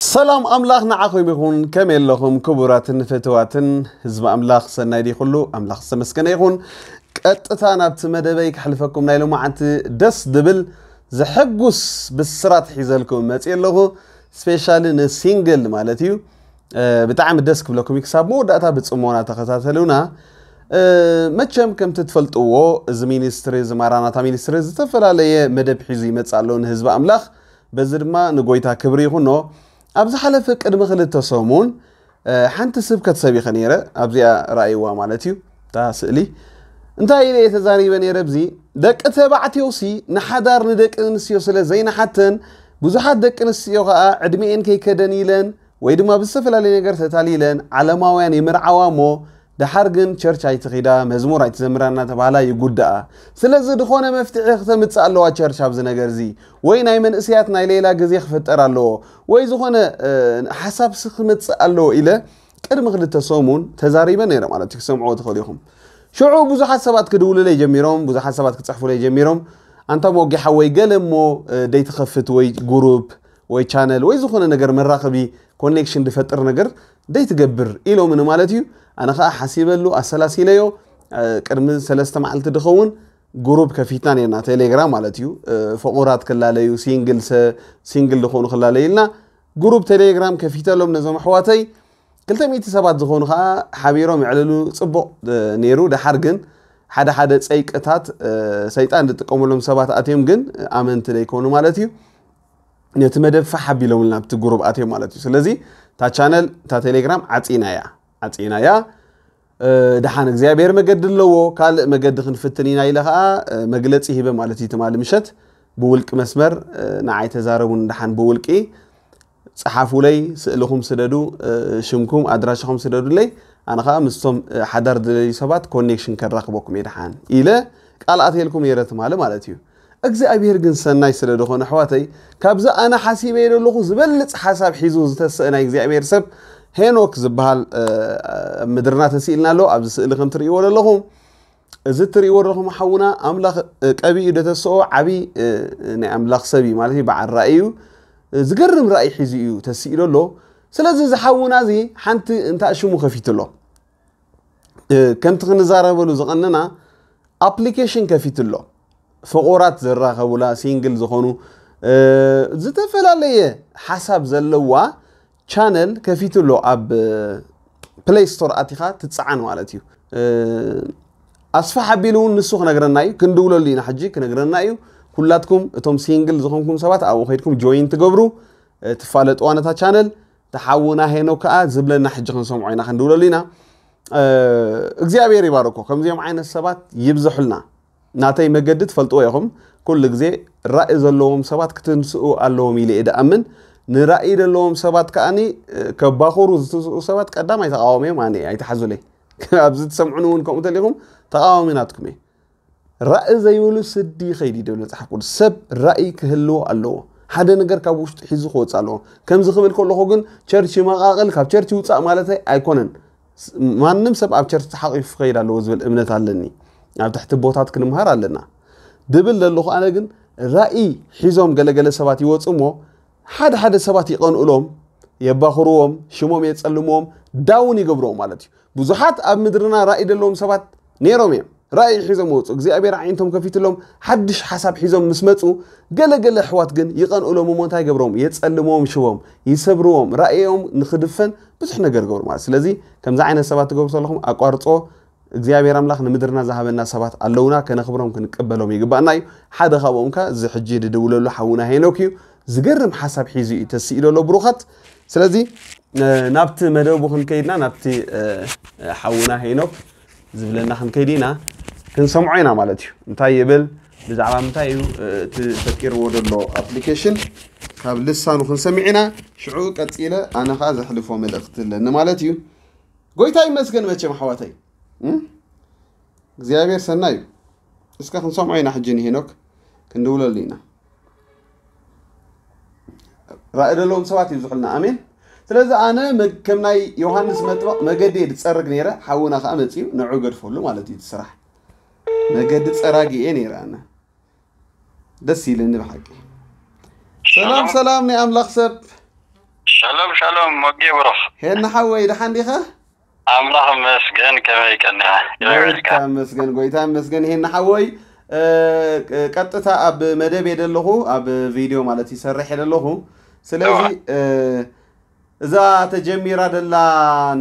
ሰላም ኣምላኽ ንዓኹም ይኹን። ከመይ ኣለኹም ክቡራትን ፍትዋትን ህዝቢ ኣምላኽ? ሰናይ ድዩ ኩሉ? ኣምላኽ ዝተመስገነ ይኹን። ቀጥታ ናብቲ መደበይ ከሕልፈኩም ናይ ሎማዓንቲ ደስ ድብል ዘሐጉስ ብስራት ሒዘልኩም መፅእ ኣለኹ። ስፔሻሊ ንሲንግል ማለት እዩ። ብጣዕሚ ደስ ክብለኩም እዩ። ክሳብ መወዳእታ ብፅሞና ተኸታተሉና። መቸም ከምቲ ትፈልጥዎ፣ እዚ ሚኒስትሪ፣ እዚ ማራናታ ሚኒስትሪ ዝተፈላለየ መደብ ሒዙ ይመፅእ ኣሎ ንህዝቢ ኣምላኽ። በዚ ድማ ንጎይታ ክብሪ ይኹኖ። ኣብ ዝሓለፈ ቅድሚ ክልተ ሰሙን ሓንቲ ስብከት ሰቢኸ ነይረ። ኣብዚኣ ረኣይዋ ማለት እዩ እታ ስእሊ። እንታይ ኢለ እየ ተዛሪበ ነይረ? ብዚ ደቂ ተባዕትዮ ሲ ንሓዳር ንደቂ ኣንስትዮ ስለ ዘይንሓተን፣ ብዙሓት ደቂ ኣንስትዮ ከዓ ዕድሜኤን ከይከደን ኢለን ወይ ድማ ብዝተፈላለየ ነገር ተታሊለን ዓለማውያን ይምርዓዋ እሞ፣ ደሓር ግን ቸርች ኣይትኺዳ፣ መዝሙር ኣይትዘምራ እናተባህላ ይጉዳኣ። ስለዚ ዝኾነ መፍትሒ ክተምፅእ ኣለዋ ቸርች ኣብዚ ነገር እዚ። ወይ ናይ መንእሰያት ናይ ሌላ ግዜ ክፍጠር ኣለዎ፣ ወይ ዝኾነ ሓሳብ ሲ ክመፅእ ኣለዎ ኢለ ቅድሚ ክልተ ሰሙን ተዛሪበ ነይረ ማለት እዩ። ክሰምዕዎ ትኽእሉ ኢኹም። ሽዑ ብዙሓት ሰባት ክድውሉለይ ጀሚሮም፣ ብዙሓት ሰባት ክፅሕፉለይ ጀሚሮም። ኣንታ ሞጌ ሓወይ፣ ገለ እሞ ደይትኸፍት ወይ ጉሩፕ ወይ ቻነል ወይ ዝኾነ ነገር መራኸቢ ኮኔክሽን ዝፈጥር ነገር ደይትገብር ኢሎምኒ ማለት እዩ። ኣነ ከዓ ሓሲበሉ ኣሰላሲለዮ። ቅድሚ ሰለስተ መዓልቲ ዝኸውን ጉሩፕ ከፊትና ነርና፣ ቴሌግራም ማለት እዩ። ፍቑራት ክላለዩ፣ ሲንግል ዝኮኑ ክላለዩ ኢልና ጉሩፕ ቴሌግራም ከፊተሎም ነዞም ኣሕዋተይ። ክልተ ሚእቲ ሰባት ዝኾኑ ከዓ ሓቢሮም የዕልሉ። ፅቡቕ ነይሩ። ደሓር ግን ሓደ ሓደ ፀይቅታት ሰይጣን ዝጥቀመሎም ሰባት ኣትዮም ግን ኣመንቲ ዘይኮኑ ማለት እዩ። ነቲ መደብ ፋሕ ኣቢሎምልና ኣብቲ ጉሩብ ኣትዮም ማለት እዩ። ስለዚ እታ ቻነል እታ ቴሌግራም ዓፂናያ ዓፂናያ። ደሓን እግዚኣብሔር መገዲ ኣለዎ፣ ካልእ መገዲ ክንፍትን ኢና ኢለ ከዓ መግለፂ ሂበ ማለት እዩ። ትማሊ ምሸት ብውልቂ መስመር ንዓይ ተዛረቡን ደሓን ብውልቂ ፀሓፉለይ፣ ስእልኹም ስደዱ፣ ሽምኩም ኣድራሻኹም ስደዱለይ። ኣነ ከዓ ምስቶም ሓዳር ዝደልዩ ሰባት ኮኔክሽን ከራኽበኩም እየ ደሓን ኢለ ቃል ኣትየልኩም ነይረ ትማሊ ማለት እዩ። እግዚኣብሔር ግን ሰናይ ስለ ዝኾነ ኣሕዋተይ፣ ካብዚ ኣነ ሓሲበ ዘለኹ ዝበልፅ ሓሳብ ሒዙ ዝተሰእ ናይ እግዚኣብሔር ሰብ ሄኖክ ዝበሃል ኣብ ምድርና ተስኢልና ኣሎ። ኣብዚ ስእሊ ከም ትርእይዎ ዘለኹም፣ እዚ እትርእይዎ ዘለኹም ሓውና ኣምላኽ ቀቢኡ ደተስኦ ዓብዪ ናይ ኣምላኽ ሰብ እዩ ማለት እዩ። በዓል ራእይ እዩ። ዝገርም ራእይ ሒዙ እዩ ተስኢሉ ኣሎ። ስለዚ እዚ ሓውና እዚ ሓንቲ እንታይ ሽሙ ከፊቱ ኣሎ። ከምቲ ክንዛረበሉ ዝቐነና ኣፕሊኬሽን ከፊቱ ኣሎ። ፍቑራት ዝራኸቡላ፣ ሲንግል ዝኾኑ፣ ዝተፈላለየ ሓሳብ ዘለዋ ቻነል ከፊቱ ኣሎ። ኣብ ፕሌይ ስቶር ኣቲኻ ትፀዓን ማለት እዩ። ኣስፋሕ ኣቢሉ እውን ንሱ ክነግረና እዩ። ክንድውለሉ ኢና ሕጂ፣ ክነግረና እዩ። ኩላትኩም እቶም ሲንግል ዝኾንኩም ሰባት ኣብኡ ከይድኩም ጆይን ትገብሩ፣ ትፋለጥዋ ነታ ቻነል። ተሓውና ሄኖክ ከዓ ዝብለና ሕጂ ክንሰምዖ ኢና፣ ክንድውለሉ ኢና። እግዚኣብሔር ይባርኮ። ከምዚኦም ዓይነት ሰባት ይብዝሑልና። ናተይ መገዲ ትፈልጥዎ ኢኹም። ኩሉ ግዜ ራእይ ዘለዎም ሰባት ክትንስኡ ኣለዎም ኢለ እየ ድኣምን። ንራእይ ዘለዎም ሰባት ከዓኒ ከባኹሩ ዝትስኡ ሰባት ቀዳማይ ተቃዋሚ እዮም። ኣነ ኣይትሓዙለይ። ኣብዚ ትሰምዑኒ እውን ከምኡ ተሊኹም ተቃዋሚ ናትኩም እየ። ራእይ ዘይብሉ ስዲ ይኸይድ እዩ ድብል መፅሓፍ ቅዱስ። ሰብ ራእይ ክህልዎ ኣለዎ። ሓደ ነገር ካብ ውሽጡ ሒዙ ክወፅእ ኣለዎ። ከምዚ ክብል ከለኹ ግን ቸርች ይመቃቕል፣ ካብ ቸርች ይውፃእ ማለተይ ኣይኮነን። ማንም ሰብ ኣብ ቸርች ተሓቂፉ ክኸይድ ኣለዎ ዝብል እምነት ኣለኒ። ኣብ ትሕቲ ቦታት ክንምሃር ኣለና ድብል ዘለኹ። ኣነ ግን ራእይ ሒዞም ገለገለ ሰባት ይወፁ እሞ ሓደ ሓደ ሰባት ይቐንኡሎም፣ የባኽርዎም፣ ሽሞም የፀልምዎም፣ ዳውን ይገብርዎም ማለት እዩ። ብዙሓት ኣብ ምድርና ራእይ ዘለዎም ሰባት ነይሮም እዮም። ራእይ ሒዞም ወፁ፣ እግዚኣብሔር ኣዒንቶም ከፊትሎም ሓድሽ ሓሳብ ሒዞም ምስ መፁ፣ ገለገለ ኣሕዋት ግን ይቐንኡሎም እሞ እንታይ ይገብርዎም? የፀልምዎም ሽሞም፣ ይሰብርዎም፣ ራእዮም ንክድፈን ብዙሕ ነገር ይገብሩ ማለት። ስለዚ ከምዚ ዓይነት ሰባት ትገብሩ ዘለኹም ኣቋርፅዎ። እግዚኣብሔር ኣምላኽ ንምድርና ዝሃበና ሰባት ኣለውና፣ ከነኽብሮም ክንቀበሎም ይግባእና እዩ። ሓደ ካብኦም ከ እዚ ሕጂ ድድውለሉ ሓውና ሄኖክ እዩ። ዝገርም ሓሳብ ሒዙ እዩ ተስኢሉ ኣሎ ብሩኻት። ስለዚ ናብቲ መደቡ ክንከይድና ናብቲ ሓውና ሄኖክ ዝብለና ክንከይድ ኢና፣ ክንሰምዖ ኢና ማለት እዩ። እንታይ ይብል፣ ብዛዕባ ምንታይ እዩ እቲ ፈጢርዎ ዘሎ ኣፕሊኬሽን፣ ካብ ልሳኑ ክንሰምዕ ኢና። ሽዑ ቀፂለ ኣነ ከዓ ዘሕልፎ መልእክቲ ኣለኒ ማለት እዩ። ጎይታ ይመስገን መቸም ኣሕዋተይ እግዚኣብሔር ሰናይ እዩ። እስከ ክንሰምዖ ኢና ሕጂ ንሄኖክ ክንድውለሉ ኢና። ራእይ ዘለዎም ሰባት ይብዝሑልና። ኣሜን። ስለዚ ኣነ ከም ናይ ዮሃንስ መጥምቕ መገዲ እየ ዝፀርግ ነይረ። ሓውና ከዓ መፅዩ ንዑ ገድፈሉ ማለት እዩ እቲ ስራሕ። መገዲ ፀራጊ እየ ነይረ ኣነ። ደስ ኢልኒ ብሓቂ። ሰላም ሰላም ናይ ኣምላኽ ሰብ። ሻሎም ሻሎም ሞጌ ብሩኽ። ሄና ሓወይ፣ ደሓን ዲኻ? ኣምላኽ ይመስገን፣ ከመይ ቀኒኻ? ከመይ ጎይታ ውዒልካ? ይመስገን፣ ጎይታ ይመስገን። ሄና ሓወይ፣ እ፣ ቀጥታ ኣብ መደብ እየ ዘለኹ፣ ኣብ ቪድዮ ማለት ይሰርሕ እየ ዘለኹ። ስለዚ፣ እዋ። እ፣ እዛ ተጀሚራ ደላ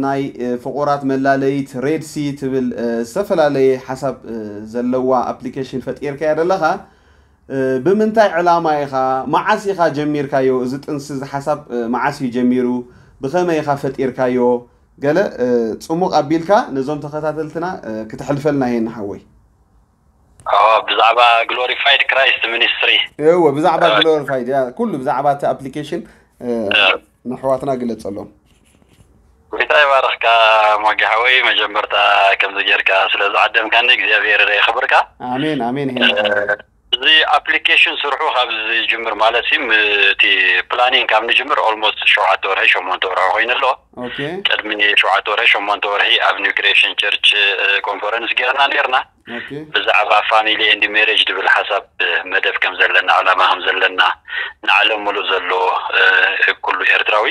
ናይ፣ እ፣ ፍቑራት መላለይት ሬድ ሲ ትብል፣ እ፣ ዝተፈላለየ ሓሳብ፣ እ፣ ዘለዋ ኣፕሊኬሽን ፈጢርካያ ደለኻ። እ፣ ብምንታይ ዕላማ ኢኻ፣ መዓስ ኢኻ ጀሚርካዮ? እዚ ጥንሲ እዚ ሓሳብ፣ እ፣ መዓስ እዩ ጀሚሩ? ብኸመይ ኢኻ ፈጢርካዮ? ገለ፣ እ፣ ጽሙቕ ኣቢልካ ነዞም ተኸታተልትና፣ እ፣ ክተሕልፈልና እየ ንሓወይ። ኣዎ፣ ብዛዕባ ግሎሪፋይድ ክራይስት ሚኒስትሪ። እወ፣ ብዛዕባ እ፣ ግሎሪፋይድ፣ ያ፣ ኩሉ ብዛዕባ እቲ ኣፕሊኬሽን፣ እ፣ እ። ንኣሕዋትና ግለጸሎም። ጎይታ ይባርኽካ ሞጌ ሓወይ። መጀመርታ ከምዚ ጌርካ ስለ ዝዓደምካኒ እግዚኣብሔር የኽብርካ። ኣሜን፣ ኣሜን። ሄና እ፣ ሓወይ። እዚ ኣፕሊኬሽን ስርሑ ካብ ዝጅምር ማለት ሲ፣ ም-፣ እቲ ፕላኒንግ ካብ ንጅምር ኦልሞስት ሸውዓተ ወርሒ፣ ሸሞንተ ወርሒ ኮይኑ ኣሎ። ኦኬ። ቅድሚ ሸውዓተ ወርሒ፣ ሸሞንተ ወርሒ ኣብ ኒው ክሪኤሽን ቸርች፣ እ፣ ኮንፈረንስ ጌርና ኔርና። ኦኬ። ብዛዕባ ፋሚሊ ኤንድ ሜሬጅ ዝብል ሓሳብ፣ እ፣ መደብ ከም ዘለና፣ ዕላማ ከም ዘለና፣ ንዓለም ሙሉእ ዘሎ፣ እ፣ ኩሉ ኤርትራዊ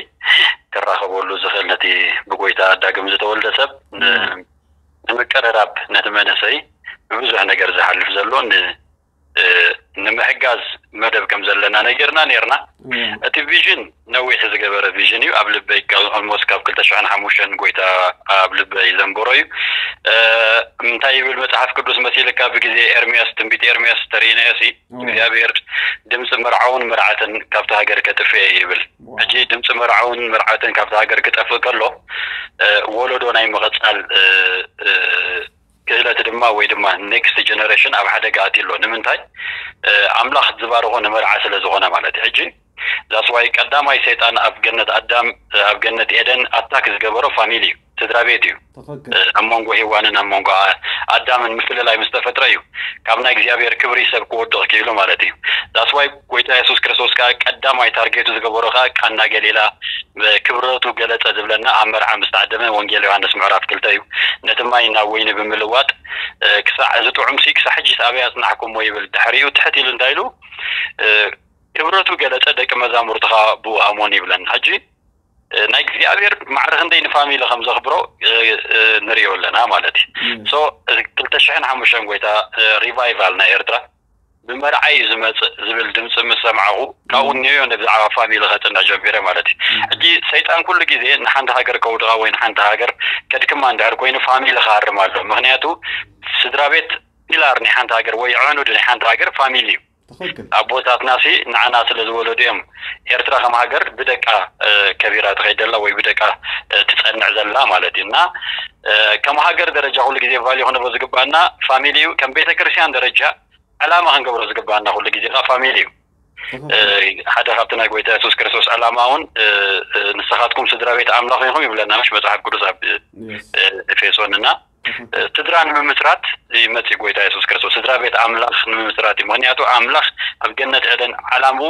ክራኸበሉ ዝኽእል፣ ነቲ ብጎይታ ዳግም ዝተወልደ ሰብ ን-፣ እም። ንምቅርራብ፣ ነቲ መንእሰይ ብብዙሕ ነገር ዝሓልፍ ዘሎ ን-፣ እ፣ ንምሕጋዝ መደብ ከም ዘለና ነጊርና ኔርና። እም። እቲ ቪዥን ነዊሕ ዝገበረ ቪዥን እዩ። ኣብ ልበይ ካብ፣ ኦልሞስት ካብ ክልተ ሽሕን ሓሙሽተን ጎይታ ኣብ ልበይ ዘንበሮ እዩ። እ፣ እንታይ ይብል መጽሓፍ ቅዱስ መሲልካ? ብግዜ ኤርምያስ፣ ትንቢት ኤርምያስ ተርእይናዮ ሲ፣ እም። እግዚኣብሔር ድምፂ መርዓውን መርዓትን ካብቲ ሃገር ከጥፍእ እየ ይብል። ዋው። ሕጂ ድምፂ መርዓውን መርዓትን ካብቲ ሃገር ክጠፍእ ከሎ፣ እ፣ ወለዶ ናይ ምቕጻል፣ እ፣ እ፣ ክእለት ድማ ወይ ድማ ኔክስት ጀነሬሽን ኣብ ሓደጋ ኣትዩ ኣሎ። ንምንታይ? እ፣ ኣምላኽ ዝባርኾ ንመርዓ ስለ ዝኾነ ማለት እዩ። ሕጂ ዛስዋይ ቀዳማይ ሰይጣን ኣብ ገነት ኣዳም፣ ኣብ ገነት ኤደን ኣታክ ዝገበሮ ፋሚሊ እዩ፣ ስድራ ቤት እዩ። ትኽክል። እ፣ ኣብ መንጎ ሄዋንን ኣብ መንጎ ኣ-፣ ኣዳምን ምፍልላይ ምስ ተፈጥረ እዩ ካብ ናይ እግዚኣብሔር ክብሪ ሰብ ክወድቕ ክኢሉ ማለት እዩ። ዛስዋይ ጎይታ የሱስ ክርስቶስ ከኣ ቀዳማይ ታርጌቱ ዝገበሮ ከኣ ቃና ገሊላ፣ እ፣ ክብረቱ ገለጸ ዝብለና ኣብ መርዓ ምስ ተዓደመ ወንጌል ዮሃንስ ምዕራፍ ክልተ እዩ። ነቲ ማይ ናብ ወይኒ ብምልዋጥ፣ እ፣ ክሳዕ እዚ ጥዑም ሲ ክሳዕ ሕጂስ ኣበይ ኣጽናሕኩሞ ይብል። ድሕሪኡ ትሕት ኢሉ እንታይ ኢሉ? እ፣ ክብረቱ ገለጸ፣ ደቂ መዛሙርቱ ከኣ ብኡ ኣመኑ ይብለና። ሕጂ፣ እ፣ ናይ እግዚኣብሔር ማዕረ ክንደይ ንፋሚሊ ከም ዘኽብሮ፣ እ፣ እ፣ ንርእዮ ኣለና ማለት እዩ። እም። ሶ፣ እዚ ክልተ ሽሕን ሓሙሽተን ጎይታ፣ እ፣ ሪቫይቫል ናይ ኤርትራ ብመርዓ እዩ ዝመጽእ ዝብል ድምጺ ምስ ሰማዕኹ፣ ካብኡ እም። እኒኦ ብዛዕባ ፋሚሊ ከጽንዕ ጀሚረ ማለት እዩ። እም። ሕጂ ሰይጣን ኩሉ ግዜ ንሓንቲ ሃገር ከውድቓ ወይ ንሓንቲ ሃገር ከድክማ እንድሕር ኮይኑ ፋሚሊ ክሃርም ኣሎ። ምኽንያቱ ስድራ ቤት ፒላር ናይ ሓንቲ ሃገር ወይ ዕኑድ ናይ ሓንቲ ሃገር ፋሚሊ እዩ። ትኽክል። ኣቦታትና ሲ ንዓና ስለ ዝወለዱ እዮም ኤርትራ ከም ሃገር ብደቃ፣ እ፣ ከቢራ ትኸይድ ዘላ ወይ ብደቃ፣ እ፣ ትጸንዕ ዘላ ማለት እዩ። እና፣ እ፣ ከም ሃገር ደረጃ ኩሉ ግዜ ቫልዩ ክንህቦ ዝግባና ፋሚሊ እዩ። ከም ቤተ ክርስቲያን ደረጃ ዕላማ ክንገብሮ ዝግባና ኩሉ ግዜ ከኣ ፋሚሊ እዩ። ትኽክል። እ፣ ሓደ ካብቲ ናይ ጎይታ የሱስ ክርስቶስ ዕላማ እውን፣ እ፣ እ፣ ንስኻትኩም ስድራ ቤት ኣምላኽ ኢኹም ይብለና፣ ምሽ መጽሓፍ ቅዱስ ኣብ፣ የስ። እ፣ ኤፌሶን እና፣ ትኽክል። እ፣ ስድራ ንምምስራት ይመጽእ ጎይታ የሱስ ክርስቶስ፣ ስድራ ቤት ኣምላኽ ንምምስራት እዩ። ምኽንያቱ ኣምላኽ ኣብ ገነት ኤደን ዓላምኡ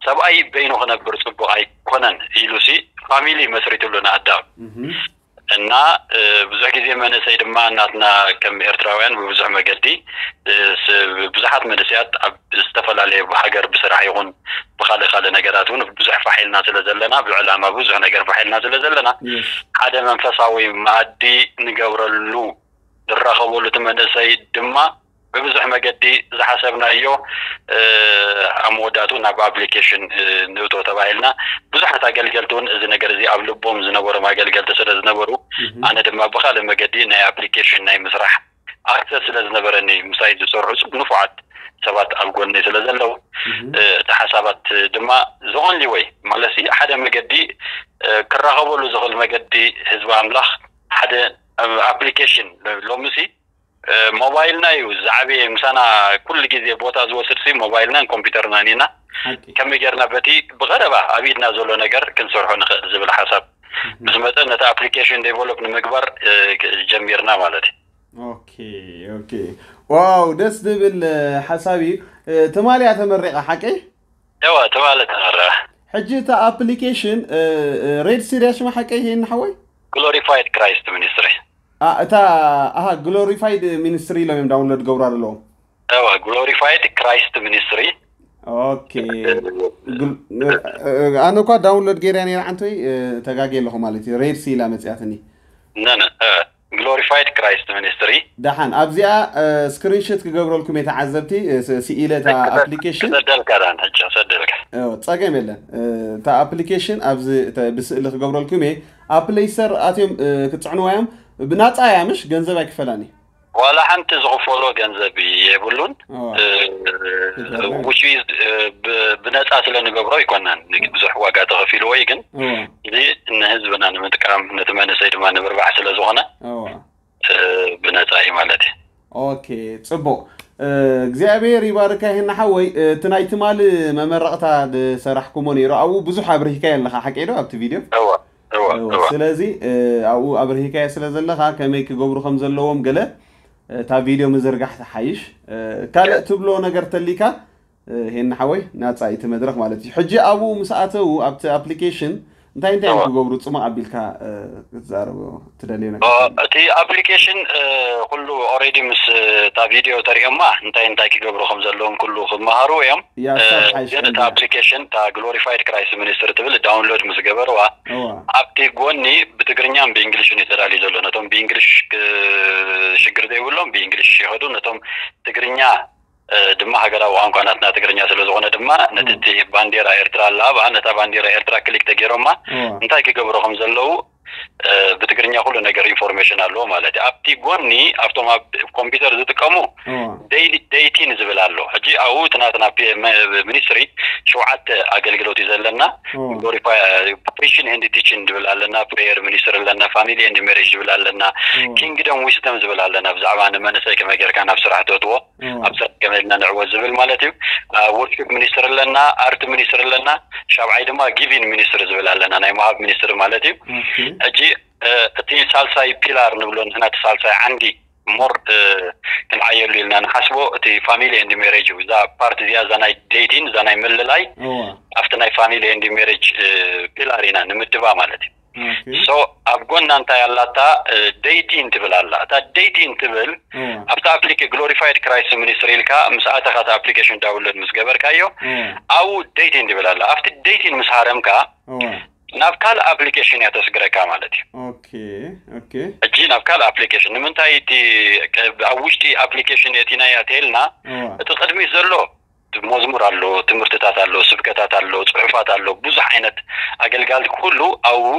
ሰብኣይ በይኑ ክነብር ጽቡቕ ኣይኮነን ኢሉ ሲ ፋሚሊ መስሪትሉ ንኣዳም። እህ። እና፣ እ፣ ብዙሕ ግዜ መንእሰይ ድማ ናትና ከም ኤርትራውያን ብብዙሕ መገዲ፣ እ፣ ስ-፣ ብዙሓት መንእሰያት ኣብ ዝተፈላለየ ሃገር ብስራሕ ይኹን ብኻልእ ካልእ ነገራት እውን ብዙሕ ፋሕ ኢልና ስለ ዘለና፣ ብዕላማ ብዙሕ ነገር ፋሕ ኢልና ስለ ዘለና፣ የስ። ሓደ መንፈሳዊ መኣዲ ንገብረሉ ንራኸበሉ፣ እቲ መንእሰይ ድማ ብብዙሕ መገዲ ዝሓሰብናዮ፣ እ፣ ኣብ መወዳእቱ ናብ ኣፕሊኬሽን፣ እ፣ ንእቶ ተባሂልና። ብዙሓት ኣገልገልቲ እውን እዚ ነገር እዚ ኣብ ልቦም ዝነበሮም ኣገልገልቲ ስለ ዝነበሩ፣ እህ። ኣነ ድማ ብኻልእ መገዲ ናይ ኣፕሊኬሽን ናይ ምስራሕ ኣክሰስ ስለ ዝነበረኒ፣ ምሳይ ዝሰርሑ ጽ-፣ ንፉዓት ሰባት ኣብ ጎነይ ስለ ዘለዉ፣ እህ። እ፣ እቲ ሓሳባት ድማ the only way ማለት እዩ፣ ሓደ መገዲ፣ እ፣ ክራኸበሉ ዝኽእል መገዲ ህዝቢ ኣምላኽ ሓደ፣ እ፣ ኣፕሊኬሽን ሎምሲ፣ እ፣ ሞባይልና እዩ ዝዓበየ፣ ምሳና ኩሉ ግዜ ቦታ ዝወስድ ሲ ሞባይልናን ኮምፒውተርናን ኢና። ሓቂ። ከመይ ጌርና በቲ ብቐረባ ኣብ ኢድና ዘሎ ነገር ክንሰርሖ ንኽእል ዝብል ሓሳብ እህ። ምስ መጸ ነቲ ኣፕሊኬሽን ዴቨሎፕ ንምግባር፣ እ፣ ጀሚርና ማለት እዩ። ኦኬ፣ ኦኬ። ዋው፣ ደስ ዝብል፣ እ፣ ሓሳብ እዩ። እ፣ ትማሊ እያ ተመሪቓ፣ ሓቀይ? እወ፣ ትማሊ ተመረቐ። ሕጂ እታ ኣፕሊኬሽን፣ እ፣ እ፣ ሬድ ሲ ድያ ሽማ ሓቀይ ይሄን ሓወይ? ግሎሪፋይድ ክራይስት ሚኒስትሪ። ኣ፣ እታ፣ ኣሃ፣ ግሎሪፋይድ ሚኒስትሪ ኢሎም እዮም ዳውንሎድ ገብራ ዘለዎም። እወ፣ ግሎሪፋይድ ክራይስት ሚኒስትሪ። ኦኬ። ኣነ እኳ ዳውንሎድ ገይርያ ነይረ፣ ዓንቶይ ተጋጌ ኣለኹ ማለት እዩ። ሬድ ሲ ኢላ መፅያትኒ። ነነ ግሎሪፋይድ ክራይስት ሚኒስትሪ። ደሓን ኣብዚኣ ስክሪንሾት ክገብረልኩም እየ ተዓዘብቲ። ስኢለ እታ ኣፕሊኬሽን ክሰደልካ ዳን ሕጂ ክሰደልካ። ጸገም የለን። እታ ኣፕሊኬሽን ኣብዚ ብስእሊ ክገብረልኩም እየ። ኣብ ፕሌይ ስተር ኣትዮም ክፅዕንዋ እዮም። ብናፃ እያ፣ ምሽ ገንዘብ ኣይክፈላኒ። ዋላ ሓንቲ ዝኽፈሎ ገንዘብ የብሉን። ውሽ ብነፃ ስለ ንገብሮ ኣይኮነን ብዙሕ ዋጋ ተኸፊልዎ እዩ፣ ግን እዚ ንህዝብና ንምጥቃም ነቲ መንእሰይ ድማ ንምርባሕ ስለ ዝኾነ ብነፃ እዩ ማለት እዩ። ኦኬ፣ ፅቡቅ። እግዚኣብሔር ይባርካ ይህና ሓወይ። እቲ ናይ ትማሊ መመረቕታ ዝሰራሕኩሞ ነይሩ፣ ኣብኡ ብዙሕ ኣብርሂካ ኣለካ፣ ሓቂ ዶ? ኣብቲ ቪድዮ ስለዚ ኣብኡ ኣብርሂካዮ ስለ ዘለካ ከመይ ክገብሩ ከም ዘለዎም ገለ እታ ቪድዮ ምዝርጋሕ ትሓይሽ። ካልእ ትብሎ ነገር ተሊካ ሄን ሓወይ፣ ናፃ እቲ መድረክ ማለት እዩ። ሕጂ ኣብኡ ምስ ኣተው ኣብቲ ኣፕሊኬሽን እንታይ እንታይ እዮም ክገብሩ? ፅሙቕ ኣቢልካ ክትዛረቦ ትደልዮ ነገር? እቲ ኣፕሊኬሽን ኩሉ ኦሬዲ ምስ እታ ቪድዮ ተሪኦማ እንታይ እንታይ ክገብሩ ከም ዘለዎም ኩሉ ክመሃሩ እዮም። ግን እታ ኣፕሊኬሽን እታ ግሎሪፋይድ ክራይስት ሚኒስትሪ ትብል ዳውንሎድ ምስ ገበርዋ ኣብቲ ጎኒ ብትግርኛን ብእንግሊሽን እዩ ተዳልዩ ዘሎ። ነቶም ብእንግሊሽ ሽግር ዘይብሎም ብእንግሊሽ ይኸዱ፣ ነቶም ትግርኛ ድማ ሃገራዊ ቋንቋ ናትና ትግርኛ ስለ ዝኾነ ድማ ነቲ ባንዴራ ኤርትራ ኣላ ኣብኣ፣ ነታ ባንዴራ ኤርትራ ክሊክ ተገይሮማ እንታይ ክገብሩ ከም ዘለዉ ብትግርኛ ኩሉ ነገር ኢንፎርሜሽን ኣለዎ ማለት እዩ። ኣብቲ ጎኒ ኣብቶም ኣብ ኮምፒውተር ዝጥቀሙ ዴይቲን ዝብል ኣሎ። ሕጂ ኣብኡ እቲ ናትና ሚኒስትሪ ሸውዓተ ኣገልግሎት እዩ ዘለና። ፕሪሽን ኤንድ ቲችን ዝብል ኣለና፣ ፕሬየር ሚኒስትሪ ኣለና፣ ፋሚሊ ኤንድ ሜሬጅ ዝብል ኣለና፣ ኪንግደም ዊስደም ዝብል ኣለና፣ ብዛዕባ ንመንእሰይ ከመይ ጌርካ ናብ ስራሕ ተእትዎ ኣብ ስራሕ ከመይ ኢልና ንዕወት ዝብል ማለት እዩ። ወርሺፕ ሚኒስትሪ ኣለና፣ ኣርት ሚኒስትሪ ኣለና፣ ሻብዓይ ድማ ጊቪን ሚኒስትሪ ዝብል ኣለና፣ ናይ ምሃብ ሚኒስትሪ ማለት እዩ። ሕጂ እቲ ሳልሳይ ፒላር ንብሎ ንሕና እቲ ሳልሳይ ዓንዲ ሞር ክንዓየሉ ኢልና ንሓስቦ እቲ ፋሚሊ ኤንድ ሜሬጅ እዩ። እዛ ፓርት እዚኣ እዛ ናይ ዴቲን እዛ ናይ ምልላይ ኣብቲ ናይ ፋሚሊ ኤንድ ሜሬጅ ፒላር ኢና ንምድባ ማለት እዩ። ሶ ኣብ ጎና እንታይ ኣላታ? ዴቲን ትብል ኣላ። እታ ዴቲን ትብል ኣብታ ኣፕሊኬ ግሎሪፋይድ ክራይስት ሚኒስትሪ ኢልካ ምስ ኣተኻ እቲ ኣፕሊኬሽን ዳውንሎድ ምስ ገበርካዮ ኣብኡ ዴቲን ትብል ኣላ። ኣብቲ ዴቲን ምስ ሃረምካ ናብ ካልእ ኣፕሊኬሽን እያ ተስግረካ ማለት እዩ። ኦኬ ኦኬ። ሕጂ ናብ ካልእ ኣፕሊኬሽን ንምንታይ እቲ ኣብ ውሽጢ ኣፕሊኬሽን የእቲናያ ተልና እቲ ቅድሚት ዘሎ መዝሙር ኣሎ፣ ትምህርትታት ኣሎ፣ ስብከታት ኣሎ፣ ፅሑፋት ኣሎ፣ ብዙሕ ዓይነት ኣገልጋልቲ ኩሉ ኣብኡ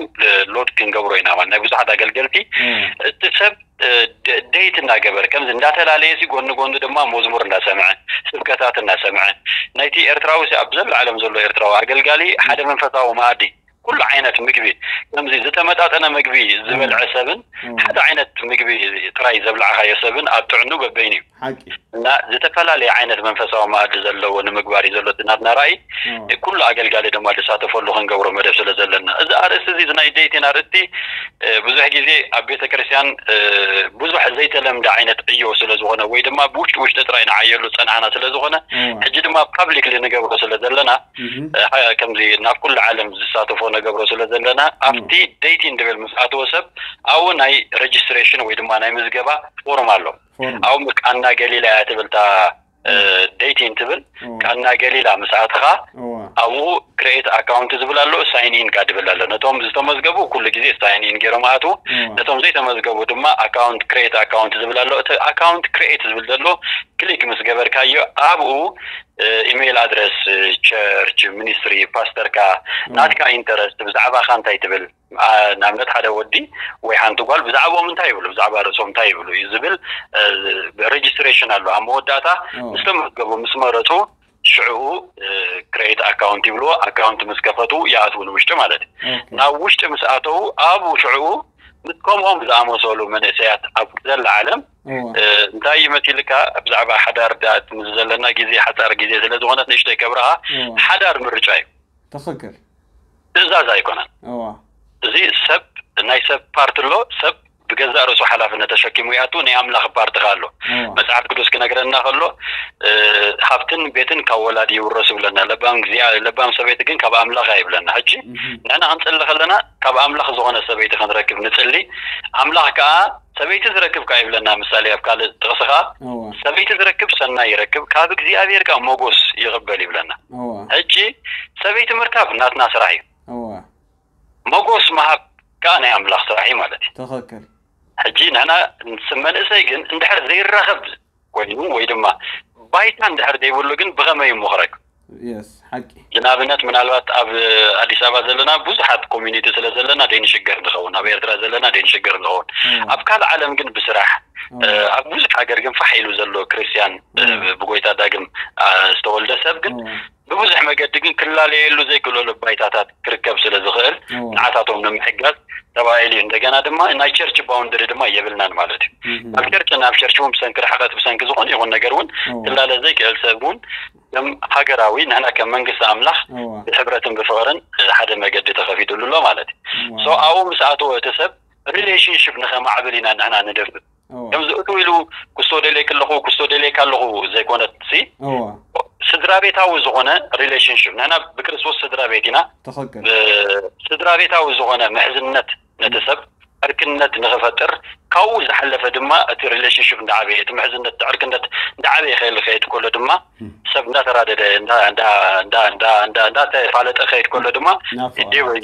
ሎድ ክንገብሮ ኢና ማለት ናይ ብዙሓት ኣገልገልቲ እቲ ሰብ ዴት እናገበረ ከምዚ እንዳተላለየ ሲ ጎኒ ጎኒ ድማ መዝሙር እንዳሰምዐ ስብከታት እናሰምዐ ናይቲ ኤርትራዊ ሲ ኣብ ዘለ ዓለም ዘሎ ኤርትራዊ ኣገልጋሊ ሓደ መንፈሳዊ መኣዲ ኩሉ ዓይነት ምግቢ ከምዚ ዝተመጣጠነ ምግቢ ዝበልዐ ሰብን ሓደ ዓይነት ምግቢ ጥራይ ዘብላዕካዮ ሰብን ኣብ ጥዕኑ በበይኑ እዩ። ሓቂ እና ዝተፈላለየ ዓይነት መንፈሳዊ መኣዲ ዘለዎ ንምግባር እዩ ዘሎ እቲ ናትና ራእይ። ኩሉ ኣገልጋሊ ድማ ዝሳተፈሉ ክንገብሮ መደብ ስለ ዘለና እዚ ኣርእስቲ እዚ ናይ ዴቲን ኣርእስቲ ብዙሕ ግዜ ኣብ ቤተ ክርስቲያን ብዙሕ ዘይተለምደ ዓይነት ዕዮ ስለ ዝኾነ ወይ ድማ ብውሽጢ ውሽጢ ጥራይ ንዓየሉ ዝፀናሕና ስለ ዝኾነ ሕጂ ድማ ፓብሊክሊ ንገብሮ ስለ ዘለና ከምዚ ናብ ኩሉ ዓለም ዝሳተፎ ነገብሮ ስለ ዘለና ኣብቲ ዴቲን ድብል ምስ ኣተወ ሰብ ኣብኡ ናይ ሬጅስትሬሽን ወይ ድማ ናይ ምዝገባ ፎርም ኣሎ። ኣብኡ ቃና ገሊላ እያ ትብል እታ ዴቲን ትብል ቃና ገሊላ ምስ ኣተኻ ኣብኡ ክሬኤት ኣካውንት ዝብል ኣሎ፣ ሳይን ኢን ካ ድብል ኣሎ። ነቶም ዝተመዝገቡ ኩሉ ግዜ ሳይን ኢን ገይሮም ኣትዉ፣ ነቶም ዘይተመዝገቡ ድማ ኣካውንት ክሬኤት ኣካውንት ዝብል ኣሎ። እቲ ኣካውንት ክሬኤት ዝብል ዘሎ ክሊክ ምስ ገበርካዮ ኣብኡ ኢሜይል ኣድረስ፣ ቸርች፣ ሚኒስትሪ፣ ፓስተርካ፣ ናትካ ኢንተረስት ብዛዕባኻ እንታይ ትብል ንኣብነት ሓደ ወዲ ወይ ሓንቲ ጓል ብዛዕባኦም እንታይ ይብሉ ብዛዕባ ርእሶም እንታይ ይብሉ እዩ ዝብል ሬጅስትሬሽን ኣሎ ኣብ መወዳእታ ምስ ተመዝገቡ ምስ መረፁ ሽዕኡ ክሬት ኣካውንት ይብልዎ ኣካውንት ምስ ከፈቱ ይኣትዉ ንውሽጢ ማለት እዩ ናብ ውሽጢ ምስ ኣተዉ ኣብኡ ሽዕኡ ምስ ከምኦም ዝኣመሰሉ መንእሰያት ኣብ ዘላ ዓለም እንታይ እዩ መሲልካ ብዛዕባ ሓዳር ምስ ዘለና ግዜ ሓፃር ግዜ ስለ ዝኾነት ንእሽተይ ከብርሃ ሓዳር ምርጫ እዩ ትኽክል ትእዛዝ ኣይኮነን። እዚ ሰብ ናይ ሰብ ፓርት ኣሎ። ሰብ ብገዛእ ርእሱ ሓላፍነት ተሸኪሙ ይኣቱ። ናይ ኣምላኽ ፓርት ከ ኣሎ። መጽሓፍ ቅዱስ ክነግረና ከሎ ሃብትን ቤትን ካብ ወላዲ ይውረስ ይብለና። ለባም ግዜ ለባም ሰበይቲ ግን ካብ ኣምላኽ ይብለና። ሕጂ ንሕና ክንጽሊ ከለና ካብ ኣምላኽ ዝኾነ ሰበይቲ ክንረክብ ንጽሊ። ኣምላኽ ከኣ ሰበይቲ ዝረክብ ከኣ ይብለና ምሳሌ ኣብ ካልእ ጥቕሲ ከኣ፣ ሰበይቲ ዝረክብ ሰናይ ይረክብ፣ ካብ እግዚኣብሔር ከኣ ሞጎስ ይቕበል ይብለና። ሕጂ ሰበይቲ ምርካብ ናትና ስራሕ እዩ። ሞጎስ ምሃብ ከኣ ናይ ኣምላኽ ስራሕ እዩ ማለት እዩ። ሕጂ ንሕና መንእሰይ ግን እንድሕር ዘይራኸብ ኮይኑ ወይ ድማ ባይታ እንድሕር ዘይብሉ ግን ብኸመይ እሞ ክረክብ? ሓቂ ንኣብነት ምናልባት ኣብ ኣዲስ ኣበባ ዘለና ብዙሓት ኮሚኒቲ ስለ ዘለና ደይንሽገር ንኸውን፣ ኣብ ኤርትራ ዘለና ደይንሽገር ንኸውን። ኣብ ካልእ ዓለም ግን ብስራሕ ኣብ ብዙሕ ሃገር ግን ፋሕ ኢሉ ዘሎ ክርስትያን ብጎይታ ዳግም ዝተወልደ ሰብ ግን ብብዙሕ መገዲ ግን ክላለየሉ ዘይክእለሉ ባይታታት ክርከብ ስለ ዝኽእል ንዓታቶም ንምሕጋዝ ተባሂሉ እዩ። እንደገና ድማ ናይ ቸርች ባውንደሪ ድማ የብልናን ማለት እዩ። ኣብ ቸርች ናብ ቸርች እውን ብሰንኪ ርሕቀት ብሰንኪ ዝኾነ ይኹን ነገር እውን ክላለ ዘይክእል ሰብ እውን ከም ሃገራዊ ንሕና ከም መንግስቲ ኣምላኽ ብሕብረትን ብፍቕርን ሓደ መገዲ ተኸፊትሉ ኣሎ ማለት እዩ። ሶ ኣብኡ ምስ ኣተወ እቲ ሰብ ሪሌሽንሽፕ ንኸማዕብል ኢና ንሕና ንደፍእ። ከምዚ እቱ ኢሉ ክስቶ ደልየክ ኣለኹ ክስቶ ደልየክ ኣለኹ ዘይኮነት ሲ ስድራ ቤታዊ ዝኾነ ሪሌሽንሽፕ ንሕና ብክርስቶስ ስድራ ቤት ኢና። ስድራ ቤታዊ ዝኾነ ምሕዝነት ነቲ ሰብ ዕርክነት ንኽፈጥር ካብኡ ዝሓለፈ ድማ እቲ ሪሌሽንሽፕ እንዳዓበየ እቲ ምሕዝነት ዕርክነት እንዳዓበየ ክእል ክኸይድ ከሎ ድማ ሰብ እንዳተራደደ እንዳተፋለጠ ክኸይድ ከሎ ድማ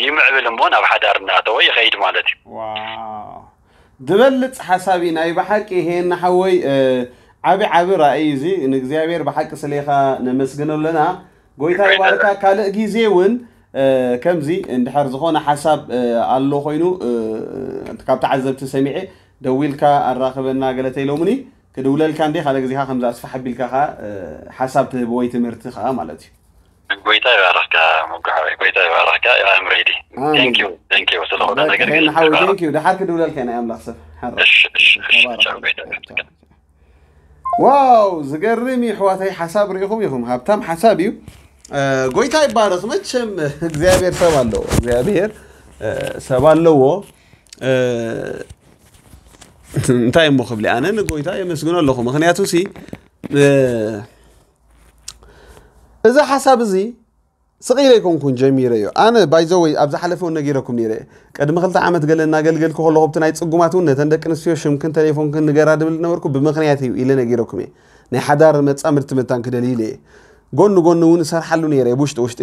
ይምዕብል እሞ ናብ ሓዳር እንዳኣተወ ይኸይድ ማለት እዩ። ዝበልፅ ሓሳብ እዩ ናይ ብሓቂ ይሄን ሓወይ። ዓቢ ዓቢ ራእይ እዚ ንእግዚኣብሔር ብሓቂ ስሌኻ ነመስግኖ ኣለና። ጎይታ ይባርካ። ካልእ ግዜ እውን ከምዚ እንድሕር ዝኾነ ሓሳብ ኣሎ ኮይኑ ካብ ተዓዘብቲ ሰሚዐ ደዊልካ ኣራኽበና ገለተ ኢሎምኒ ክድውለልካ እንዴ ካልእ ግዜኻ ከምዚ ኣስፋሕ ኣቢልካ ኸዓ ሓሳብ ትህብ ወይ ትምህርቲ ኸዓ ማለት እዩ። ጎይታ ይባርኽካ። መጉሓወይ ጎይታ ይባርኽካ። I'm ready. Thank you, thank you ስለሆነ ነገር ሓወይ thank you። ደሓር ክድውለልካ ናይ ኣምላኽ ሰብ ሓራ እሺ እሺ እሺ ቻው ጎይታ ይባርኽካ። ዋው ዝገርም እዩ ኣሕዋተይ። ሓሳብ ርኢኹም ኢኹም። ሃብታም ሓሳብ እዩ። ጎይታ ይባረኽ። መቸም እግዚኣብሔር ሰብ ኣለዎ። እግዚኣብሔር ሰብ ኣለዎ። እንታይ እሞ ክብል ኣነ ንጎይታ የመስግኖ ኣለኹ። ምክንያቱ ሲ እዚ ሓሳብ እዚ ስቕ ኢለ ኣይኮንኩን ጀሚረዮ። ኣነ ባይዘወይ ኣብ ዝሓለፈ እውን ነጊረኩም ነይረ። ቅድሚ ክልተ ዓመት ገለ እናገልገልኩ ከለኹ ኣብቲ ናይ ፅጉማት እውን ነተን ደቂ ኣንስትዮ ሽምክን ተሌፎንክን ንገራ ድብል ዝነበርኩ ብምኽንያት እዩ ኢለ ነጊረኩም እየ። ናይ ሓዳር መፃምድቲ መታን ክደሊ ኢለ እየ። ጎኒ ጎኒ እውን እሰርሓሉ ነይረ እየ ብውሽጢ ውሽጢ።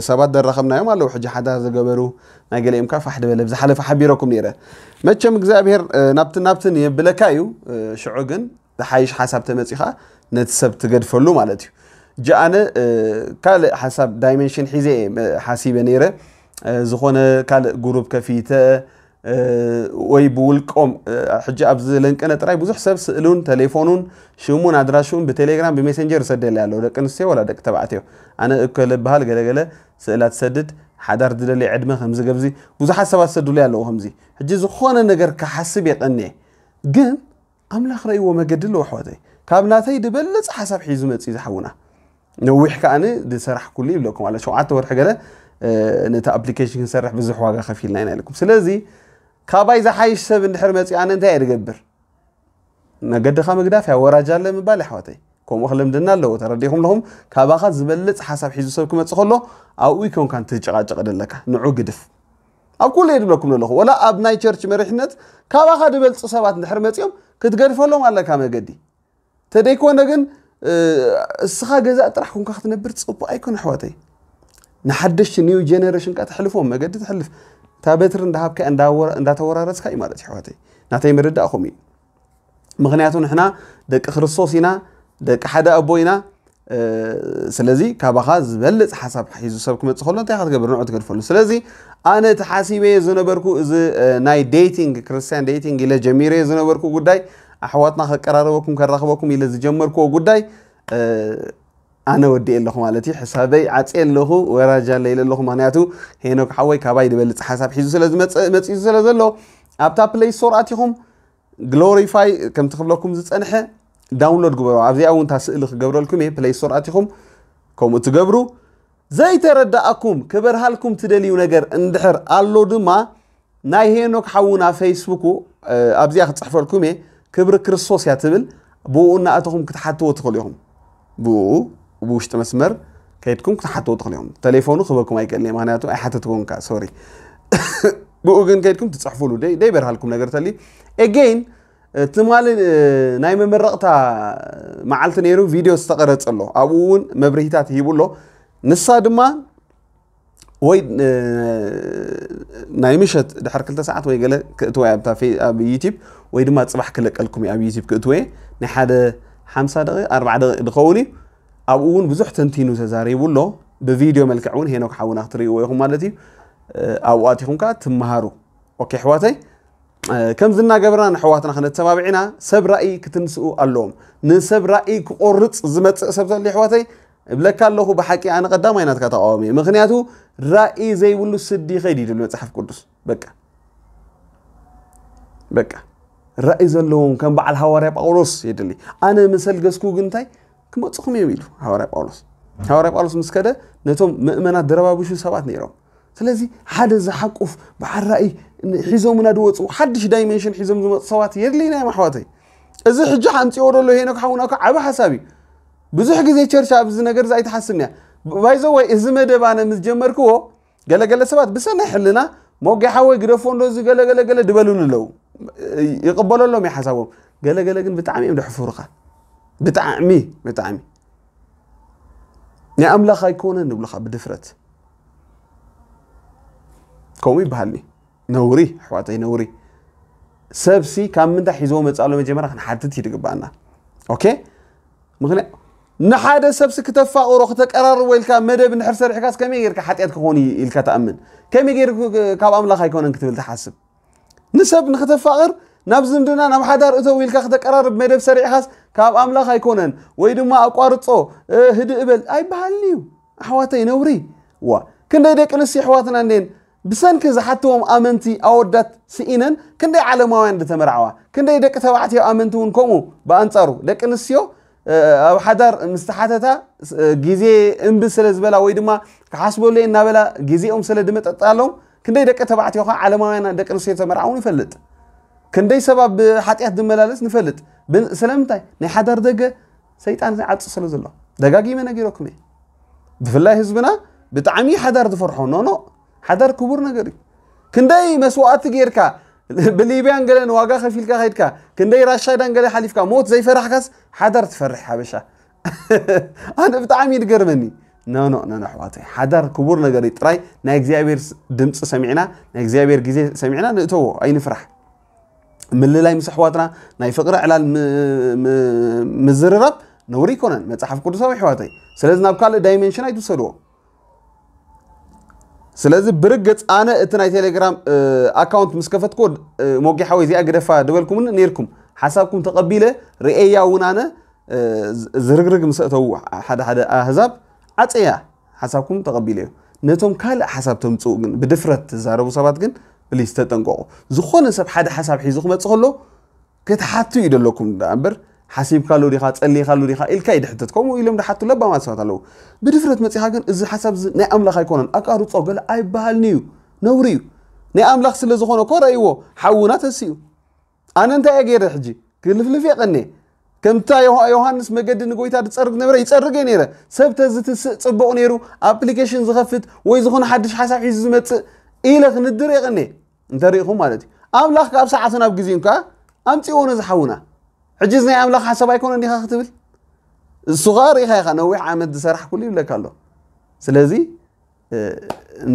ሰባት ደራኸብናዮም ኣለዉ ሕጂ ሓዳር ዝገበሩ ናይ ገሊኦም ከዓ ፋሕ ድበለ ብዝሓለፈ ሓቢረኩም ነይረ። መቸም እግዚኣብሔር ናብቲ ናብትን የብለካ እዩ። ሽዑ ግን ዝሓይሽ ሓሳብ ተመፂኻ ነቲ ሰብ ትገድፈሉ ማለት እዩ። ጂ ኣነ ካልእ ሓሳብ ዳይሜንሽን ሒዘ እየ ሓሲበ ነይረ። ዝኾነ ካልእ ጉሩብ ከፊተ ወይ ብውልቆም ሕጂ ኣብዚ ለንቀነ ጥራይ ብዙሕ ሰብ ስእሉን ተሌፎኑን ሽሙን ኣድራሽኡን ብቴሌግራም ብሜሴንጀር ይሰደለይ ኣለዉ ደቂ ኣንስትዮ ወላ ደቂ ተባዕትዮ። ኣነ እከለ በሃል ገለገለ ስእላ ትሰድድ ሓዳር ዝደሊ ዕድመ ከምዚ ገብዚ ብዙሓት ሰባት ዝሰዱለይ ኣለዉ ከምዚ። ሕጂ ዝኾነ ነገር ክሓስብ የቐንየ ግን ኣምላኽ ረእይዎ መገዲ ኣለዎ ኣሕዋተይ። ካብ ናተይ ዝበለፅ ሓሳብ ሒዙ መፅዩ ዝሓውና። ነዊሕ ከዓኒ ዝሰራሕኩሉ ይብለኩም ኣሎ ሸውዓተ ወርሒ ገለ ነቲ ኣፕሊኬሽን ክንሰርሕ ብዙሕ ዋጋ ከፊልና ኢና ኢልኩም። ስለዚ ካባይ ዝሓይሽ ሰብ እንድሕር መፅዩ ኣነ እንታይ እየ ዝገብር? መገድኻ ምግዳፍ እያ ወራጅ ኣለ ምባል ኣሕዋተይ። ከምኡ ክልምድና ኣለዎ ተረዲኹም ኣለኹም። ካባኻ ዝበልፅ ሓሳብ ሒዙ ሰብ ክመፅእ ከሎ ኣብኡ ይኮንካ እንትጨቃጨቅ ደለካ ንዑ ግድፍ። ኣብ ኩሉ እየ ድብለኩም ዘለኹ ወላ ኣብ ናይ ቸርች መሪሕነት ካባኻ ዝበልፁ ሰባት እንድሕር መፂኦም ክትገድፈሎም ኣለካ መገዲ። ተደይኮነ ግን እስኻ ገዛእ ጥራሕ ኮንካ ክትነብር ፅቡቅ ኣይኮነ ኣሕዋተይ። ንሓደሽቲ ኒው ጀነሬሽን ካ ተሕልፎም መገዲ ተሕልፍ እታ በትሪ እንዳሃብካ እንዳተወራረስካ እዩ ማለት ኣሕዋተይ። ናተይ ምርዳእኹም እዩ። ምክንያቱ ንሕና ደቂ ክርስቶስ ኢና፣ ደቂ ሓደ ኣቦ ኢና። ስለዚ ካባኻ ዝበልፅ ሓሳብ ሒዙ ሰብ ክመፅእ ከሎ እንታይ ክትገብር ንዑ ትገድፈሉ። ስለዚ ኣነ እቲ ሓሲበዮ ዝነበርኩ እዚ ናይ ዴቲንግ ክርስቲያን ዴቲንግ ኢለ ጀሚረዮ ዝነበርኩ ጉዳይ ኣሕዋትና ከቀራረበኩም ከራኽበኩም ኢለ ዝጀመርክዎ ጉዳይ ኣነ ወዲኤ ኣለኹ ማለት እዩ። ሕሳበይ ዓፅየ ኣለኹ ወራጅ ኣለ ኢለ ኣለኹ። ምክንያቱ ሄኖክ ሓወይ ካባይ ዝበልፅ ሓሳብ ሒዙ ስለ ዝመፅእ መፂኡ ስለ ዘሎ ኣብታ ፕሌይ ስቶር ኣቲኹም ግሎሪፋይ ከምቲ ክብለኩም ዝፀንሐ ዳውንሎድ ግበሩ። ኣብዚኣ እውን እታ ስእሊ ክገብረልኩም እየ ፕሌይ ስቶር ኣቲኹም ከምኡ ትገብሩ። ዘይተረዳኣኩም ክበርሃልኩም ትደልዩ ነገር እንድሕር ኣሎ ድማ ናይ ሄኖክ ሓውና ፌስቡኩ ኣብዚኣ ክፅሕፈልኩም እየ። ክብሪ ክርስቶስ እያ ትብል። ብኡ እናእተኹም ክትሓትዎ ትኽእሉ ኢኹም። ብኡ ብውሽጢ መስመር ከይድኩም ክትሓትዎ ትኽእሉ ኢኹም። ተሌፎኑ ክበኩም ኣይክእልን እየ ምክንያቱ ኣይሓተትኩን ከ ሶሪ። ብኡ ግን ከይድኩም ትፅሕፉሉ ደይበርሃልኩም ነገር ተልዩ ኤጌን ትማሊ ናይ መመረቕታ መዓልቲ ነይሩ፣ ቪድዮ ዝተቐረጸ ኣሎ። ኣብኡ እውን መብርሂታት ሂቡ ኣሎ። ንሳ ድማ ወይ ናይ ምሸት ድሕር ክልተ ሰዓት ወይ ገለ ክእትወ ኣብ ዩቲብ፣ ወይ ድማ ፅባሕ ክለቀልኩም ኣብ ዩቲብ ክእትወ። ናይ ሓደ ሓምሳ ደቂ ኣርባ ደቂ ዝኸውን እዩ። ኣብኡ እውን ብዙሕ ተንቲኑ ተዛሪቡ ኣሎ። ብቪድዮ መልክዕ እውን ሄኖክ ሓውና ክትርእይዎ ኢኹም ማለት እዩ። ኣብኡ ኣቲኹም ከዓ ትመሃሩ። ኦኬ ኣሕዋተይ፣ ከምዚ እናገበርና ንኣሕዋትና ክነተባብዕ ኢና። ሰብ ራእይ ክትንስኡ ኣለዎም። ንሰብ ራእይ ክቆርፅ ዝመፅእ ሰብ ተልዩ ኣሕዋተይ፣ እብለካ ኣለኹ፣ ብሓቂ ኣነ ቀዳማይ ናትካ ተቃዋሚ እየ። ምክንያቱ ራእይ ዘይብሉ ስዲ ይኸይድ እዩ ድብል መፅሓፍ ቅዱስ። በቃ በቃ ራእይ ዘለዎም ከም በዓል ሃዋርያ ጳውሎስ የድሊ። ኣነ ምሰልገስኩ ግን እንታይ ክመፅኹም እዮም ኢሉ ሃዋርያ ጳውሎስ። ሃዋርያ ጳውሎስ ምስ ከደ ነቶም ምእመናት ድረባብሹ ሰባት ነይሮም። ስለዚ ሓደ ዝሓቁፍ በዓል ራእይ ሒዞምና ድወፁ ሓድሽ ዳይሜንሽን ሒዞም ዝመፁ ሰባት የድልይና እዮም ኣሕዋተይ። እዚ ሕጂ ኣምፅኦ ደሎ ሄኖክ ሓውና እኮ ዓቢ ሓሳብ እዩ። ብዙሕ ግዜ ቸርች ኣብዚ ነገር እዚ ኣይትሓስብን እያ። ባይዘወይ እዚ መደብ ኣነ ምስ ጀመርክዎ ገለገለ ሰባት ብሰናይ ሕልና ሞጌ ሓወይ ግደፎ እንዶ እዚ ገለገለገለ ድበሉኒ ኣለዉ። ይቕበለሎም እዩ ሓሳቦም። ገለገለ ግን ብጣዕሚ እዮም ድሕፉርኻ። ብጣዕሚ ብጣዕሚ ናይ ኣምላኽ ኣይኮነን ንብሉኻ ብድፍረት። ከምኡ ይበሃልኒ። ነውሪ ኣሕዋተይ ነውሪ። ሰብሲ ካብ ምንታይ ሒዝዎ መፅእ ኣሎ መጀመርያ ክንሓትት እዩ ድግባኣና። ኦኬ፣ ምክንያት ንሓደ ሰብሲ ክተፋቕሮ ክተቀራርቦ ኢልካ መደብ እንድሕር ሰሪሕካስ ከመይ ጌርካ ሓጢኣት ክኾን እዩ ኢልካ ትኣምን? ከመይ ጌር ካብ ኣምላኽ ኣይኮነን ክትብል ትሓስብ? ንሰብ ንክተፋቕር ናብ ዝምድና ናብ ሓዳር እተው ኢልካ ክተቀራርብ መደብ ሰሪዕኻስ ካብ ኣምላኽ ኣይኮነን ወይ ድማ ኣቋርጾ፣ ህድእ እበል ኣይበሃልን እዩ። ኣሕዋተይ ነውሪ። ዋ፣ ክንደይ ደቂ ኣንስትዮ ኣሕዋትና እንዴን ብሰንኪ ዝሓትዎም ኣመንቲ ኣወዳት ስኢነን ክንደይ ዓለማውያን ዝተመርዓዋ፣ ክንደይ ደቂ ተባዕትዮ ኣመንቲ እውን ከምኡ። ብኣንጻሩ ደቂ ኣንስትዮ ኣብ ሓዳር ምስ ተሓተታ ግዜ እምቢ ስለ ዝበላ ወይ ድማ ክሓስበሉ እየ እናበላ ግዜኦም ስለ ድመጠጣሎም ክንደይ ደቂ ተባዕትዮ ከዓ ዓለማውያን ደቂ ኣንስትዮ ተመርዓውን ይፈልጥ። ክንደይ ሰብ ኣብ ሓጢኣት ዝመላለስ ንፈልጥ። ስለምንታይ? ናይ ሓዳር ደገ ሰይጣን ይዓጽ ስለ ዘሎ። ደጋጊመ ነጊረኩም እየ። ብፍላይ ህዝብና ብጣዕሚ ሓዳር ዝፈርሖ። ኖ ኖ፣ ሓዳር ክቡር ነገር እዩ። ክንደይ መስዋእቲ ጌርካ ብሊብያን ገለን ዋጋ ከፊልካ ከይድካ፣ ክንደይ ራሻዳን ገለ ሓሊፍካ ሞት ዘይፈራሕካስ ሓዳር ትፈርሕ ሓበሻ። ኣነ ብጣዕሚ ይድገርመኒ። ኖ ኖ ኖ ኣሕዋተይ፣ ሓዳር ክቡር ነገር እዩ። ጥራይ ናይ እግዚኣብሔር ድምፂ ሰሚዕና፣ ናይ እግዚኣብሔር ግዜ ሰሚዕና ንእተዎ፣ ኣይንፍራሕ። ምልላይ ምስ ኣሕዋትና ናይ ፍቕሪ ዕላል ምዝርራብ ነውሪ ኣይኮነን፣ መፅሓፍ ቅዱሳዊ ኣሕዋተይ። ስለዚ ናብ ካልእ ዳይሜንሽን ኣይትውሰድዎ። ስለዚ ብርግፅ ኣነ እቲ ናይ ቴሌግራም ኣካውንት ምስ ከፈትኩ፣ ሞጌ ሓወይ እዚኣ ግደፋ ድበልኩምኒ ነይርኩም። ሓሳብኩም ተቐቢለ ርእየያ እውን ኣነ። ዝርግርግ ምስ ኣእተዉ ሓደ ሓደ ኣህዛብ ዓፀያ ሓሳብኩም ተቐቢለዮ። ነቶም ካልእ ሓሳብ ተምፅኡ ግን ብድፍረት ትዛረቡ ሰባት ግን ፕሊስ ተጠንቀቑ። ዝኾነ ሰብ ሓደ ሓሳብ ሒዙ ክመፅእ ከሎ ክትሓቱ እዩ ደለኩም ደኣ እምበር፣ ሓሲብካሉ ዲኻ ጸሊኻሉ ዲኻ ኢልካ እዩ ድሕተት። ከምኡ ኢሎም ድሓቱ ለባማት ሰባት ኣለዉ። ብድፍረት መጺኻ ግን እዚ ሓሳብ እዚ ናይ ኣምላኽ ኣይኮነን ኣቃርጾ ገለ ኣይበሃልን እዩ፣ ነውሪ እዩ። ናይ ኣምላኽ ስለ ዝኾነ እኮ ረእይዎ ሓውና ተሲኡ። ኣነ እንታይ እየ ገይረ ሕጂ ክልፍልፍ እየ ቀንየ። ከምታ ዮሃ- ዮሃንስ መገዲ ንጎይታ ዝጸርግ ነበረ ይጸርግ እየ ነይረ። ሰብ ተዝትስእ ጽቡቕ ነይሩ፣ ኣፕሊኬሽን ዝኸፍት ወይ ዝኾነ ሓድሽ ሓሳብ ሒዙ ዝመጽእ ኢለ ክንድር እየ ቀንየ። እንተሪኢኹም ማለት እዩ። ኣምላኽ ካብ ሰዓቱ ናብ ግዜኡ ከኣ ኣምጺእዎ ነዚ ሓውና። ሕጂ እዚ ናይ ኣምላኽ ሓሳብ ኣይኮነን ዲኻ ክትብል? እሱ ኸኣ ርኢኻ ኢኻ፣ ነዊሕ ዓመት ዝሰራሕኩሉ ይብለካ ኣሎ። ስለዚ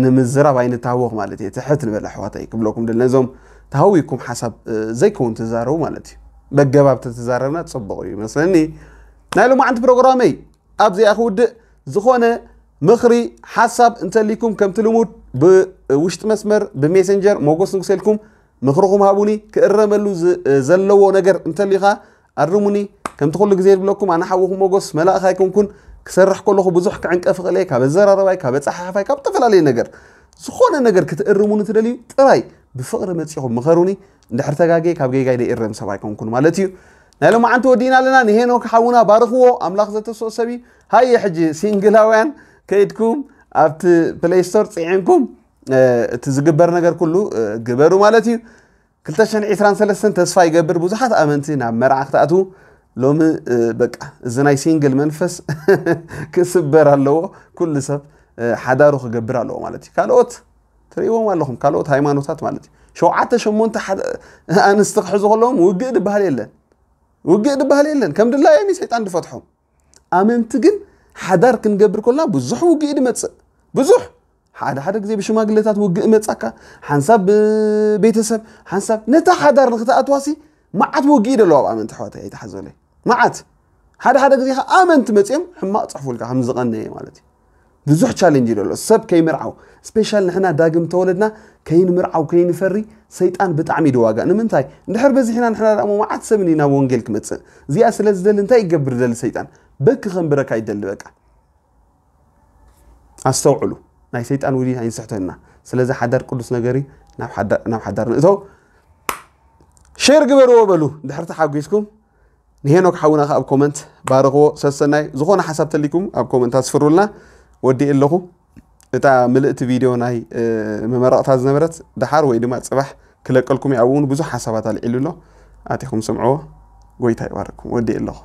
ንምዝራብ ኣይንታወኽ ማለት እየ። ትሕት ንበል ኣሕዋተይ ክብለኩም ደል ነዞም ተሃዊኩም ሓሳብ ዘይከውን ትዛረቡ ማለት እዩ። በገባብ ተተዛረብና ጽቡቕ እዩ መስለኒ። ናይ ሎማዓንቲ ፕሮግራመይ ኣብዚኣ ክውድእ። ዝኾነ ምኽሪ ሓሳብ እንተሊኩም ከምቲ ልሙድ ብውሽጢ መስመር ብሜሰንጀር ሞጎስ ንጉሰ ኢልኩም ምኽርኹም ሃቡኒ። ክእረመሉ ዝ- ዘለዎ ነገር እንተሊኻ ኣርሙኒ። ከምቲ ኩሉ ግዜ ዝብለኩም ኣነ ሓውኹም ሞጎስ መላእኽ ኣይኮንኩን። ክሰርሕ ከለኹ ብዙሕ ክዕንቀፍ እኽእል እየ፣ ካብ ኣዘራረባይ፣ ካብ ኣጸሓሕፋይ፣ ካብ ዝተፈላለዩ ነገር። ዝኾነ ነገር ክትእርሙኒ ትደልዩ ጥራይ ብፍቕሪ መጺኹም ምኸሩኒ። እንድሕር ተጋግየ ካብ ጌጋይ ደይእረም ሰብ ኣይኮንኩን ማለት እዩ። ናይ ሎማዓንቲ ወዲእና ኣለና። ንሄኖክ ሓውና ባርኽዎ፣ ኣምላኽ ዘተስኦ ሰብ እዩ። ሃየ ሕጂ ሲንግላውያን ከይድኩም ኣብቲ ፕሌይ ስቶር ጽዒንኩም እቲ ዝግበር ነገር ኩሉ ግበሩ ማለት እዩ። ክልተ ሽሕን ዕስራን ሰለስተን ተስፋ ይገብር ብዙሓት ኣመንቲ ናብ መርዓ ክትኣትዉ። ሎሚ በቃ እዚ ናይ ሲንግል መንፈስ ክስበር ኣለዎ። ኩሉ ሰብ ሓዳሩ ክገብር ኣለዎ ማለት እዩ። ካልኦት ትርእይዎም ኣለኹም፣ ካልኦት ሃይማኖታት ማለት እዩ። ሸውዓተ ሸሞንተ ሓደ ኣንስቲ ክሕዙ ከለዎም ውግእ ድበሃል የለን። ውግእ ድበሃል የለን። ከም ድላዮም እዩ ሰይጣን ድፈትሖም። ኣመንቲ ግን ሓዳር ክንገብር ከለና ብዙሕ ውግእ ድመጽእ። ብዙሕ። ሓደ ሓደ ግዜ ብሽማግሌታት ውግእ መጻካ፣ ሓንሳብ ብቤተሰብ፣ ሓንሳብ ነታ ሓዳር ንክትኣትዋሲ መዓት ውግእ ደሎ ኣብ ኣመንቲ ኣሕዋተይ ኣይተሓዘለይ። መዓት። ሓደ ሓደ ግዜ ከኣ ኣመንቲ መጺኦም ሕማቕ ጽሕፉልካ ከም ዝቐነየ ማለት እዩ። ብዙሕ ቻሌንጅ ደሎ ሰብ ከይምርዓው፣ ስፔሻል ንሕና ዳግም ተወለድና ከይንምርዓው ከይንፈሪ ሰይጣን ብጣዕሚ ድዋጋ። ንምንታይ? እንድሕር በዚሕና ንሕና ደኣ መዓት ሰብ እዩ ናብ ወንጌል ክመጽእ። እዚኣ ስለ ዝደሊ እንታይ ይገብር ደሊ ሰይጣን? በኪ ከንብረካ ይደሊ በቃ። ኣስተውዕሉ፣ ናይ ሰይጣን ውዲ ኣይንስሕተና። ስለዚ ሓዳር ቅዱስ ነገር እዩ። ናብ ሓዳ-፣ ናብ ሓዳር ንእተው። ሼር ግበርዎ በሉ፣ ድሕር ተሓጒስኩም። ንሄኖክ ሓውና ከኣ ኣብ ኮመንት ባርኽዎ። ሰሰናይ፣ ዝኾነ ሓሳብ ተሊኩም ኣብ ኮመንት ኣስፍሩልና። ወዲእ ኣለኹ። እታ ምልእቲ ቪድዮ ናይ፣ እ፣ መመረቕታ ዝነበረት ደሓር ወይ ድማ ጽባሕ ክለቀልኩም እየ። ኣብኡ እውን ብዙሕ ሓሳባት ኣልዒሉ ኣሎ። ኣቲኹም ስምዕዎ። ጎይታ ይባርኩም። ወዲእ ኣለኹ።